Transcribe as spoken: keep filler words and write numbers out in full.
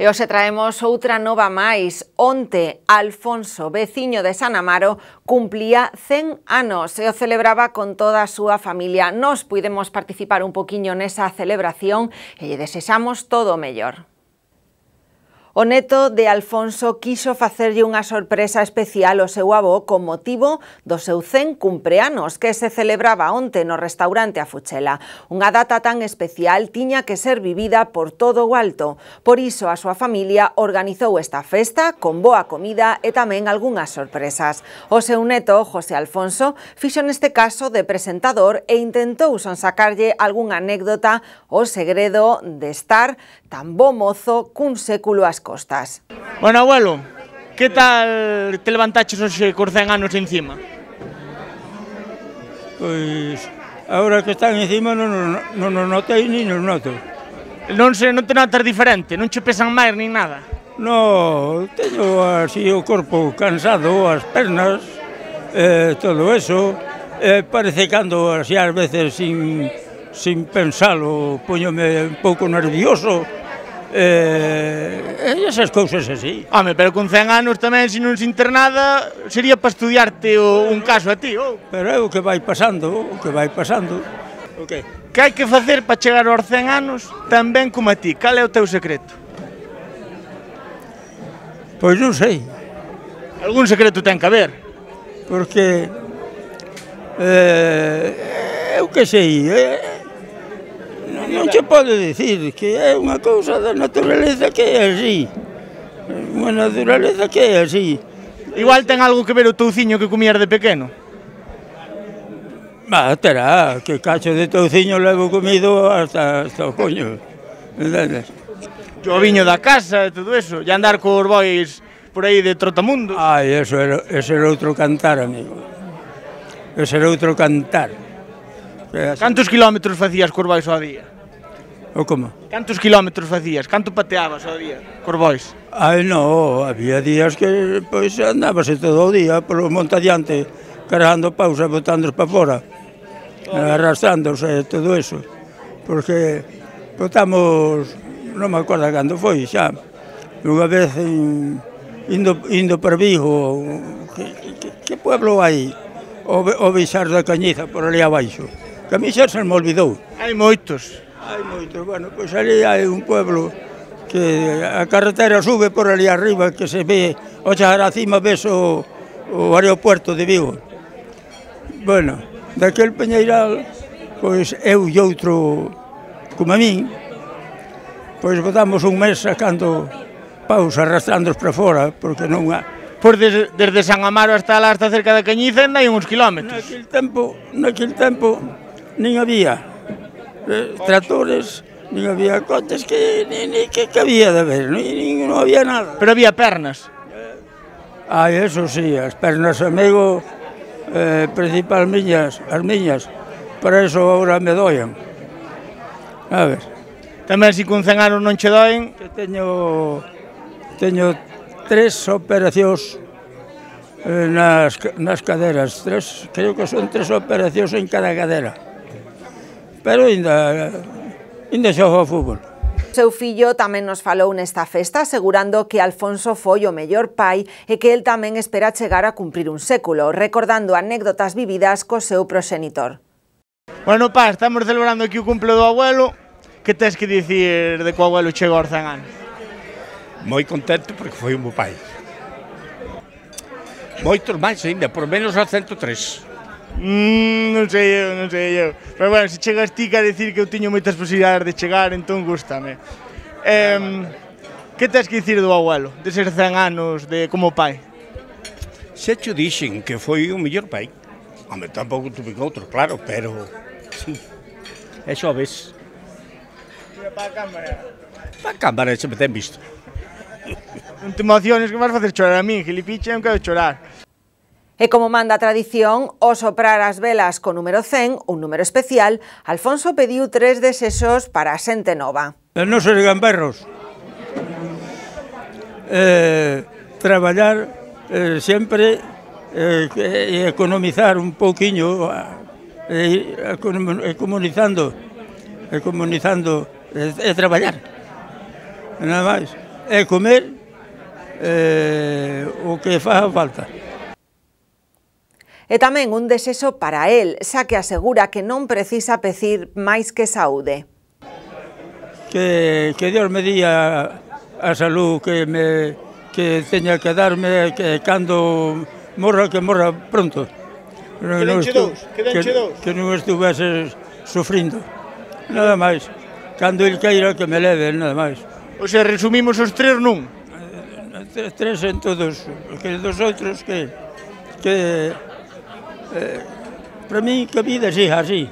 E hoxe traemos outra nova máis. Onte, Alfonso, veciño de San Amaro, cumplía cen anos e o celebraba con toda a súa familia. Nos puidemos participar un poquiño nesa celebración e lle desexamos todo o mellor. O neto de Alfonso quixo facerlle unha sorpresa especial ao seu avó con motivo do seu cen cumpleanos que se celebraba onte no restaurante A Fuchela. Unha data tan especial tiña que ser vivida por todo o alto. Por iso a súa familia organizou esta festa con boa comida e tamén algunhas sorpresas. O seu neto, José Alfonso, fixo neste caso de presentador e intentou sonsacarlle algunha anécdota o segredo de estar tan bo mozo cun século ás costas. Bueno, abuelo, que tal te levantaches hoxe cos cen anos encima? Pois, agora que están encima non, non, non notei ni non noto. Non se non te notas diferente, non che pesan máis nin nada? No, teño así o corpo cansado, as pernas, eh, todo eso. Eh, parece cando así ás veces sin, sin pensalo, poñome un pouco nervioso. Eh, e esas cousas así. Home, pero con cen anos tamén, se non se internada, sería para estudiarte o, un caso a ti, ou? Pero é o que vai pasando, o que vai pasando. Okay. Que hai que facer para chegar aos cen anos tan ben como a ti? Cal é o teu secreto? Pois non sei. Algún secreto ten que haber. Porque, eh, eu que sei, eh, non che pode dicir que é unha cousa da naturaleza que é así. Unha naturaleza que é así. Igual ten algo que ver o touciño que comías de pequeno. Bah, terá, que cacho de touciño levo comido hasta, hasta o coño. Entendes? O viño da casa e todo eso. E andar cos bois por aí de trotamundo. Ai, eso era, ese era outro cantar, amigo. Ese era outro cantar. Cantos kilómetros facías cos bois ao día? O como? Cantos kilómetros facías? Canto pateabas ao día cos bois? Ai, no, había días que pois andábase todo o día polo monte adiante, cargando pausa, botándoos para fora, arrastrándose todo eso, porque botamos, non me acordo cando foi xa, unha vez in, indo, indo para Vigo, que, que, que pueblo hai? O, o Beixar da Cañiza, por ali abaixo, que a mí xa se me olvidou. Hai moitos. Hai moito, bueno, pois ali hai un pueblo que a carretera sube por ali arriba, que se ve, o chegar a cima ves o, o aeropuerto de Vigo. Bueno, daquel peñeiral, pois eu e outro, como a min, pois botamos un mes sacando paus, arrastrándoos para fora, porque non há... Pois desde, desde San Amaro hasta lá, hasta cerca da Cañiza, ainda hai uns kilómetros. Naquel tempo, naquel tempo, nin había Eh, tractores, nin había coches que, ni, ni, que, que había de ver, ni, ni, non había nada. Pero había pernas. Ah, eso sí, as pernas, amigo, eh, principal miñas, as miñas, para eso agora me doian. A ver. Tamén se con cen anos non che doen. Que teño, teño tres operacións eh, nas, nas caderas, tres, creo que son tres operacións en cada cadera. Pero ainda, ainda xogo ao fútbol. O seu fillo tamén nos falou nesta festa, asegurando que Alfonso foi o mellor pai e que el tamén espera chegar a cumprir un século, recordando anécdotas vividas co seu proxenitor. Bueno, pa, estamos celebrando aquí o cumple do abuelo. Que tes que dicir de que o abuelo chegou aos cen anos? Moi contento porque foi un bo pai. Moitos máis ainda, por menos a ciento tres. Mm, non sei eu, non sei eu. Pero bueno, se chegas ti a decir que eu teño moitas posibilidades de chegar, entón gústame. Eh, que tes que dicir do abuelo, de ser cen anos de como pai? Se cho dixen que foi o mellor pai. Home, tampouco tuve outro, claro, pero... Sí, eso ves. Mira para a cámara. Para a cámara se me ten visto. Non te emociones que vas facer chorar a min, gilipicha, non quero chorar. E como manda a tradición, ao soprar as velas co número cen, un número especial, Alfonso pediu tres desexos para a xente nova. E non ser gamberros. Eh, traballar eh, sempre eh, e economizar un pouquiño, e eh, comunizando, e comunizando, e, e traballar. Nada máis. é comer eh, o que faga falta. E tamén un desexo para el, xa que asegura que non precisa pedir máis que saúde. Que, que Dios me día a salud que me que teña que darme, que cando morra, que morra pronto. Quedenche dous, quedenche dous. Que non estuvese sufrindo, nada máis. Cando el queira que me leve, nada máis. O sea, resumimos os tres nun. Tres, tres en todos, que dos outros que... que eh, para mí que a vida siga así.